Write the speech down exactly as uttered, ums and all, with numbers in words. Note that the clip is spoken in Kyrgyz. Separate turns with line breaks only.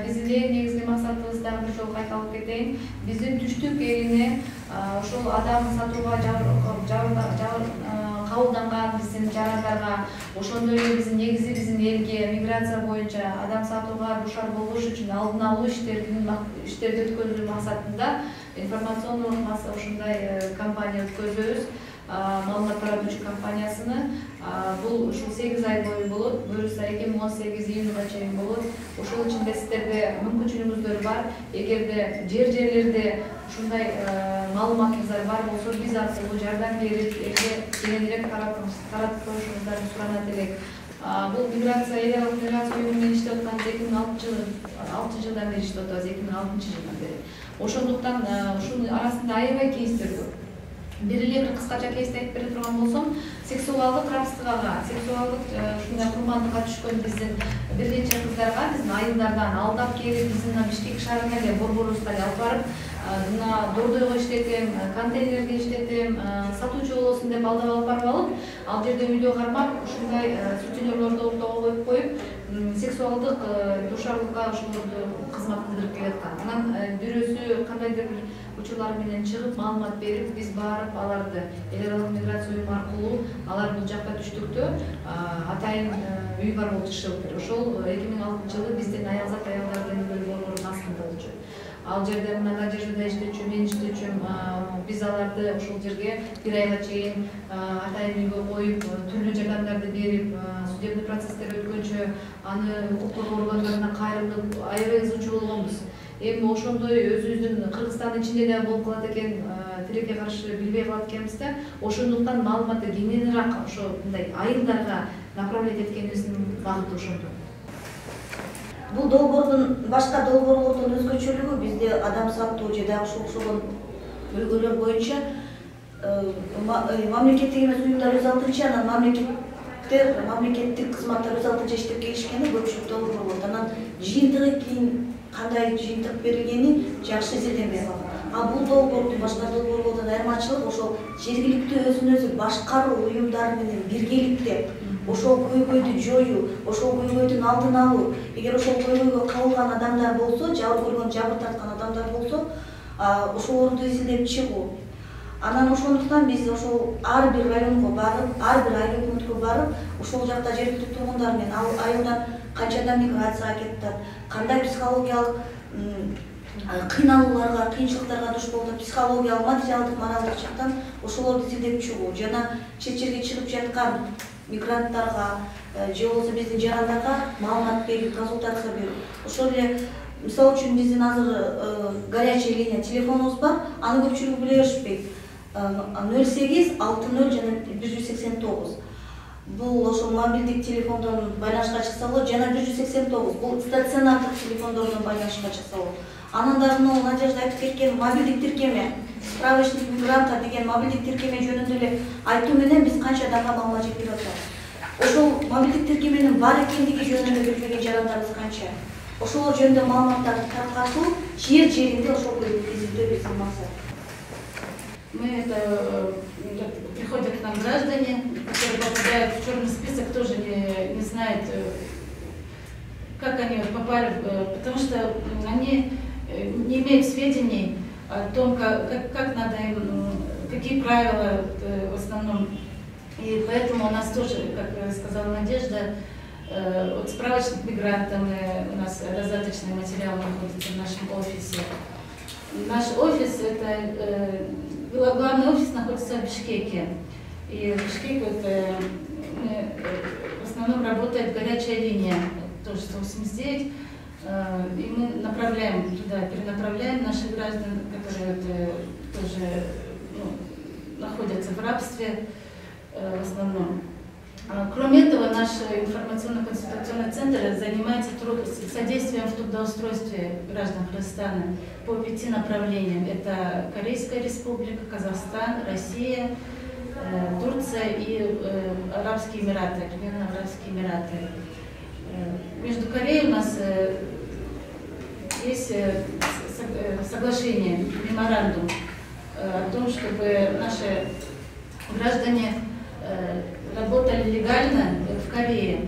биздин эң негизги максатыбыз дагы бир жолу кайталап кетейин. Биздин түштүк элине ошол адам сатууга кабылданган биздин жарандарга, ошондой эле биздин негизи биздин элге миграция боюнча адам сатууга дуушар болбош үчүн алдын алуу иштерин иштерди өткөрүү максатында информациондук ушундай кампания өткөзөбүз. Маалымат таратуучу компаниясыны бул ушул сегиз ай бою болот. Буюрса эки миң он сегиз июнга чейин болот. Ошол ичинде сиздерде мүмкүнчүлүгүңүздөр бар. Эгерде жер жерлерде ушундай маалыматыңыздар бар болсо, биз аркылуу жардам берип, элге кеңирээк таратып коюшуңуздарды суранат элек. Бул миграция эл аралык миграция уюму менен иштеп атканбыз эки миң алтынчы жылдан бери иштеп атабыз, эки миң алтынчы жылдан бери. Ошондуктан ушунун арасында аябай кейстер көп. Бир эле бир кыскача кейсти айтып бере турган болсом, сексуалдык рабствага, сексуалдык ушундай курмандыкка түшкөн биздин бир нече кыздарга биздин айылдардан алдап келип, биздин Бишкек шаарына эле борборубузга алып барып, мына дордойго иштетем, контейнерге иштетем, сатуучу болосуң деп алдап алып барып алып, ал жерде үйдө кармап, ушундай сутенерлорду ортого коюп коюп, сексуалдык дуушарлыкка ошолорду кызмат кылдырып келаткан. Анан бирөөсү кандайдыр бир учурлар менен чыгып, маалымат берип, биз барып аларды эл аралык миграция уюму аркылуу алар бул жакта түштүктө атайын үй бар болчу, шелтер. Ошол эки миң алтынчы жылы биздин аялзат аялдардын үйлөрү борборунун астында болчу. Ал жерде мына Надеждада иштечү, мен иштечүм, биз аларды ошол жерге бир айга чейин атайын үйгө коюп, түрлүү жардамдарды берип, судебный процесстер өткөнчө аны укук коргоо органдарына кайрылып, аябай ызычуу болгонбуз. Эми ошондой өзүбүздүн Кыргызстандын ичинде да болуп калат экен, тилекке каршы билбей калат экенбиз да. Ошондуктан маалыматты кеңирераак ошо мындай айылдарга направлять эткенибиздин багыты ошондо.
Бул долбоордун башка долбоорлордон өзгөчөлүгү бизде адам сатуу же дагы ушул окшогон бөлгөлөр боюнча мамлекеттик эмес уюмдар өз алдынча, анан мамлекеттер, мамлекеттик кызматтар өз алдынча иштеп келишкени көпчүлүк долбоор болот. Анан жыйынтыгы кийин кандай жыйынтык берилгени жакшы изилденбей калган. А бул долбоордун башка долбоорлордон айырмачылыгы ошол жергиликтүү өзүн өзү башкаруу уюмдары менен биргеликте ошол көйгөйдү жоюу, ошол көйгөйдүн алдын алуу. Эгер ошол көйгөйгө кабылган адамдар болсо, жабыр көргөн, жабыр тарткан адамдар болсо, ошолорду изилдеп чыгуу. Анан ошондуктан биз ошол ар бир районго барып, ар бир айыл өкмөткө барып, ошол жакта жергиликтүү тургундар менен ал айылдан канчадан миграцияга кетип, кандай психологиялык кыйналууларга, кыйынчылыктарга душ болуп, психологиялык, материалдык, моралдык жактан ошолорду изилдеп чыгуу. Жана чет жерге чыгып жаткан мигранттарга же болбосо биздин жарандарга маалымат берип, консультация берүү. Ошол эле мисалы үчүн биздин азыр горячая линия телефонубуз бар, аны көпчүлүгү биле беришпейт. ноль сегиз алты ноль жана бир жүз сексен тогуз. Бул ошол мобилдик телефондон байланышка чыкса болот, жана бир жүз сексен тогуз бул стационардык телефондордон байланышка чыкса болот. Анан дагы мына Надежда айтып кеткен мобилдик тиркеме, справочник мигранта деген мобилдик тиркеме жөнүндө эле айтуу менен биз канча адамга маалымат жеткирип атабыз. Ошол мобилдик тиркеменин бар экендиги жөнүндө билбеген жарандарыбыз канча. Ошолор жөнүндө маалыматтарды таркатуу, жер жеринде ошолду изилдөө биздин максат.
Мы это приходят к нам граждане, которые попадают в черный список, тоже не, не знают, как они попали, потому что они не имеют сведений о том, как, как, как надо им, какие правила в основном. И поэтому у нас тоже, как сказала Надежда, вот справочник мигрантам, у нас раздаточный материал находится в нашем офисе. Наш офис, это главный офис находится в Бишкеке. И в Бишкеке это, в основном работает горячая линия, тоже сто восемьдесят девять. И мы направляем туда, перенаправляем наших граждан, которые вот, тоже ну, находятся в рабстве в основном. Кроме этого, наш информационно-консультационный центр занимается труд... содействием в трудоустройстве граждан Кыргызстана по пяти направлениям. Это Корейская Республика, Казахстан, Россия, э, Турция и э, Арабские Эмираты, Объединенные Арабские Эмираты. Э, между Кореей у нас э, есть э, соглашение, меморандум э, о том, чтобы наши граждане э, работали легально в Корее.